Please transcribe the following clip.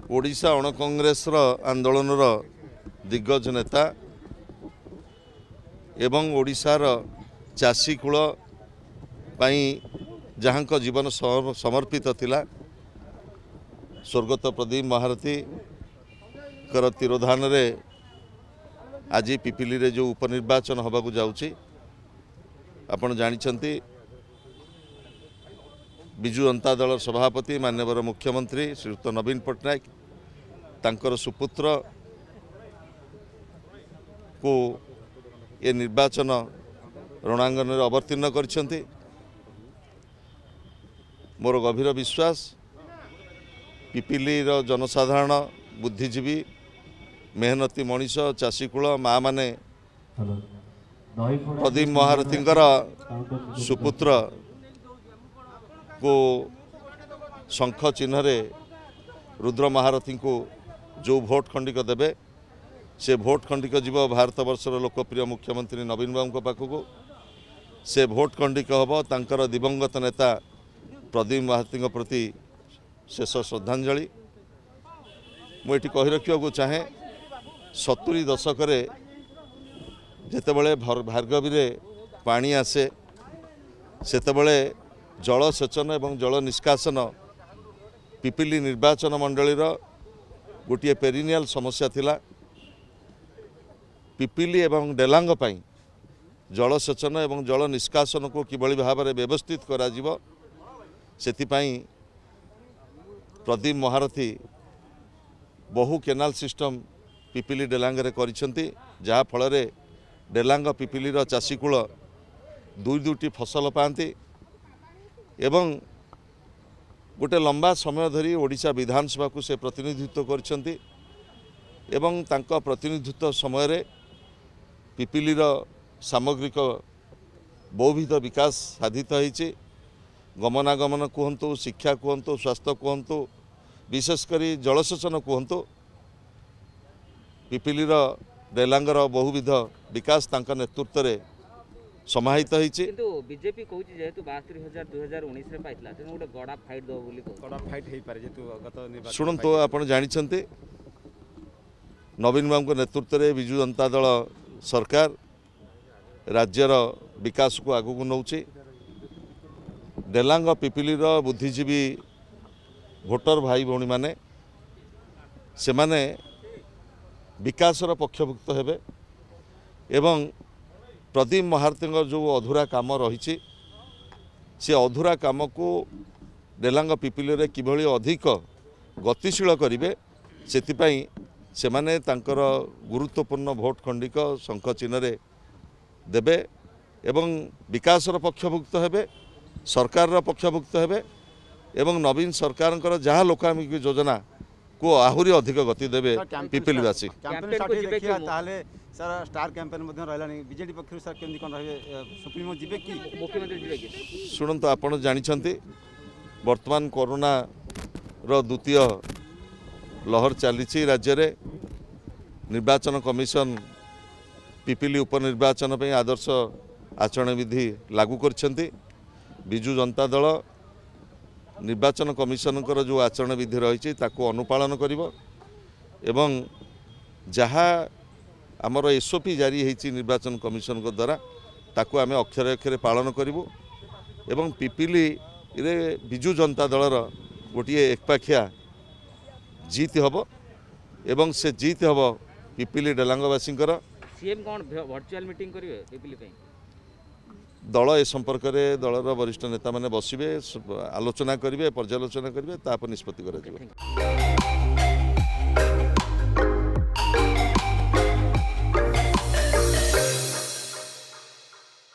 ଓଡ଼ିଶା ଅଣକଂଗ୍ରେସର ଆନ୍ଦୋଳନର ଦିଗ୍ଗଜ ନେତା ଏବଂ ଓଡ଼ିଶାର ଚାଷୀକୂଳ ପାଇଁ ଯାହାଙ୍କ ଜୀବନ ସମର୍ପିତ ଥିଲା, ସ୍ୱର୍ଗତ ପ୍ରଦୀପ ମହାରଥୀଙ୍କର ତିରୋଧାନରେ ଆଜି ପିପିଲିରେ ଯେଉଁ ଉପନିର୍ବାଚନ ହେବାକୁ ଯାଉଛି, ଆପଣ ଜାଣିଛନ୍ତି ବିଜୁ ଜନତା ଦଳର ସଭାପତି ମାନ୍ୟବର ମୁଖ୍ୟମନ୍ତ୍ରୀ ଶ୍ରୀଯୁକ୍ତ ନବୀନ ପଟ୍ଟନାୟକ ତାଙ୍କର ସୁପୁତ୍ରକୁ ଏ ନିର୍ବାଚନ ରଣାଙ୍ଗନରେ ଅବତୀର୍ଣ୍ଣ କରିଛନ୍ତି। ମୋର ଗଭୀର ବିଶ୍ୱାସ ପିପିଲିର ଜନସାଧାରଣ, ବୁଦ୍ଧିଜୀବୀ, ମେହନତି ମଣିଷ, ଚାଷୀକୂଳ, ମାଆମାନେ ପ୍ରଦୀପ ମହାରଥୀଙ୍କର ସୁପୁତ୍ରକୁ ଶଙ୍ଖ ଚିହ୍ନରେ ରୁଦ୍ର ମହାରଥୀଙ୍କୁ ଯେଉଁ ଭୋଟ ଖଣ୍ଡିକ ଦେବେ, ସେ ଭୋଟ ଖଣ୍ଡିକ ଯିବ ଭାରତବର୍ଷର ଲୋକପ୍ରିୟ ମୁଖ୍ୟମନ୍ତ୍ରୀ ନବୀନ ବାବୁଙ୍କ ପାଖକୁ। ସେ ଭୋଟ ଖଣ୍ଡିକ ହେବ ତାଙ୍କର ଦିବଙ୍ଗତ ନେତା ପ୍ରଦୀପ ମହାରଥୀଙ୍କ ପ୍ରତି ଶେଷ ଶ୍ରଦ୍ଧାଞ୍ଜଳି। ମୁଁ ଏଠି କହି ରଖିବାକୁ ଚାହେଁ, 70 ଦଶକରେ ଯେତେବେଳେ ଭାର୍ଗବୀରେ ପାଣି ଆସେ, ସେତେବେଳେ ଜଳସେଚନ ଏବଂ ଜଳ ନିଷ୍କାସନ ପିପିଲି ନିର୍ବାଚନ ମଣ୍ଡଳୀର ଗୋଟିଏ ପେରିନିଆଲ ସମସ୍ୟା ଥିଲା। ପିପିଲି ଏବଂ ଡେଲାଙ୍ଗ ପାଇଁ ଜଳସେଚନ ଏବଂ ଜଳ ନିଷ୍କାସନକୁ କିଭଳି ଭାବରେ ବ୍ୟବସ୍ଥିତ କରାଯିବ, ସେଥିପାଇଁ ପ୍ରଦୀପ ମହାରଥୀ ବହୁ କେନାଲ ସିଷ୍ଟମ ପିପିଲି ଡେଲାଙ୍ଗରେ କରିଛନ୍ତି, ଯାହାଫଳରେ ଡେଲାଙ୍ଗ ପିପିଲିର ଚାଷୀକୂଳ ଦୁଇ ଦୁଇଟି ଫସଲ ପାଆନ୍ତି। ଏବଂ ଗୋଟେ ଲମ୍ବା ସମୟ ଧରି ଓଡ଼ିଶା ବିଧାନସଭାକୁ ସେ ପ୍ରତିନିଧିତ୍ୱ କରିଛନ୍ତି ଏବଂ ତାଙ୍କ ପ୍ରତିନିଧିତ୍ୱ ସମୟରେ ପିପିଲିର ସାମଗ୍ରିକ ବହୁବିଧ ବିକାଶ ସାଧିତ ହୋଇଛି। ଗମନାଗମନ କୁହନ୍ତୁ, ଶିକ୍ଷା କୁହନ୍ତୁ, ସ୍ୱାସ୍ଥ୍ୟ କୁହନ୍ତୁ, ବିଶେଷ କରି ଜଳସେଚନ କୁହନ୍ତୁ, ପିପିଲିର ଡେଲାଙ୍ଗର ବହୁବିଧ ବିକାଶ ତାଙ୍କ ନେତୃତ୍ୱରେ ସମାହିତ ହେଇଛି। କିନ୍ତୁ ବିଜେପି କହୁଛି ଯେହେତୁ 72,000 2019ରେ ପାଇଥିଲା, ତେଣୁ ଗୋଟେ ଗଡ଼ା ଫାଇଟ୍ ଦେବ ବୋଲି। କଡ଼ା ଫାଇଟ୍ ହେଇପାରେ ଯେହେତୁ ଗତ। ଶୁଣନ୍ତୁ, ଆପଣ ଜାଣିଛନ୍ତି ନବୀନ ବାବୁଙ୍କ ନେତୃତ୍ୱରେ ବିଜୁ ଜନତା ଦଳ ସରକାର ରାଜ୍ୟର ବିକାଶକୁ ଆଗକୁ ନେଉଛି। ଡେଲାଙ୍ଗ ପିପିଲିର ବୁଦ୍ଧିଜୀବୀ ଭୋଟର ଭାଇ ଭଉଣୀମାନେ ସେମାନେ ବିକାଶର ପକ୍ଷଭୁକ୍ତ ହେବେ ଏବଂ ପ୍ରଦୀପ ମହାରଥୀଙ୍କ ଯେଉଁ ଅଧୁରା କାମ ରହିଛି, ସେ ଅଧୁରା କାମକୁ ଡେଲାଙ୍ଗ ପିପିଲିରେ କିଭଳି ଅଧିକ ଗତିଶୀଳ କରିବେ, ସେଥିପାଇଁ ସେମାନେ ତାଙ୍କର ଗୁରୁତ୍ୱପୂର୍ଣ୍ଣ ଭୋଟ ଖଣ୍ଡିକ ଶଙ୍ଖ ଚିହ୍ନରେ ଦେବେ ଏବଂ ବିକାଶର ପକ୍ଷଭୁକ୍ତ ହେବେ, ସରକାରର ପକ୍ଷଭୁକ୍ତ ହେବେ ଏବଂ ନବୀନ ସରକାରଙ୍କର ଯାହା ଲୋକାଭିମୁଖୀ ଯୋଜନାକୁ ଆହୁରି ଅଧିକ ଗତି ଦେବେ ପିପିଲିବାସୀ। ତାହେଲେ ସାର୍, ଷ୍ଟାର କ୍ୟାମ୍ପେନ୍ ମଧ୍ୟ ରହିଲାଣି ବିଜେଡି ପକ୍ଷରୁ, ସାର୍ କେମିତି କ'ଣ ରହିବେ? ସୁପ୍ରିମୋ ଯିବେ କି, ମୁଖ୍ୟମନ୍ତ୍ରୀ ଯିବେ କି? ଶୁଣନ୍ତୁ, ଆପଣ ଜାଣିଛନ୍ତି ବର୍ତ୍ତମାନ କରୋନାର ଦ୍ୱିତୀୟ ଲହର ଚାଲିଛି ରାଜ୍ୟରେ। ନିର୍ବାଚନ କମିଶନ ପିପିଲି ଉପନିର୍ବାଚନ ପାଇଁ ଆଦର୍ଶ ଆଚରଣ ବିଧି ଲାଗୁ କରିଛନ୍ତି। ବିଜୁ ଜନତା ଦଳ ନିର୍ବାଚନ କମିଶନଙ୍କର ଯେଉଁ ଆଚରଣ ବିଧି ରହିଛି ତାକୁ ଅନୁପାଳନ କରିବ ଏବଂ ଯାହା ଆମର ଏସ୍ଓପି ଜାରି ହେଇଛି ନିର୍ବାଚନ କମିଶନଙ୍କ ଦ୍ୱାରା, ତାକୁ ଆମେ ଅକ୍ଷରେ ଅକ୍ଷରେ ପାଳନ କରିବୁ ଏବଂ ପିପିଲିରେ ବିଜୁ ଜନତା ଦଳର ଗୋଟିଏ ଏକପାଖିଆ ଜିତ୍ ହେବ ଏବଂ ସେ ଜିତ୍ ହେବ ପିପିଲି ଡେଲାଙ୍ଗବାସୀଙ୍କର। ସିଏମ୍ କ'ଣ ଭର୍ଚୁଆଲ ମିଟିଂ କରିବେ ପିପିଲି ପାଇଁ? ଦଳ ଏ ସମ୍ପର୍କରେ ଦଳର ବରିଷ୍ଠ ନେତାମାନେ ବସିବେ, ଆଲୋଚନା କରିବେ, ପର୍ଯ୍ୟାଲୋଚନା କରିବେ, ତାପରେ ନିଷ୍ପତ୍ତି କରାଯିବ।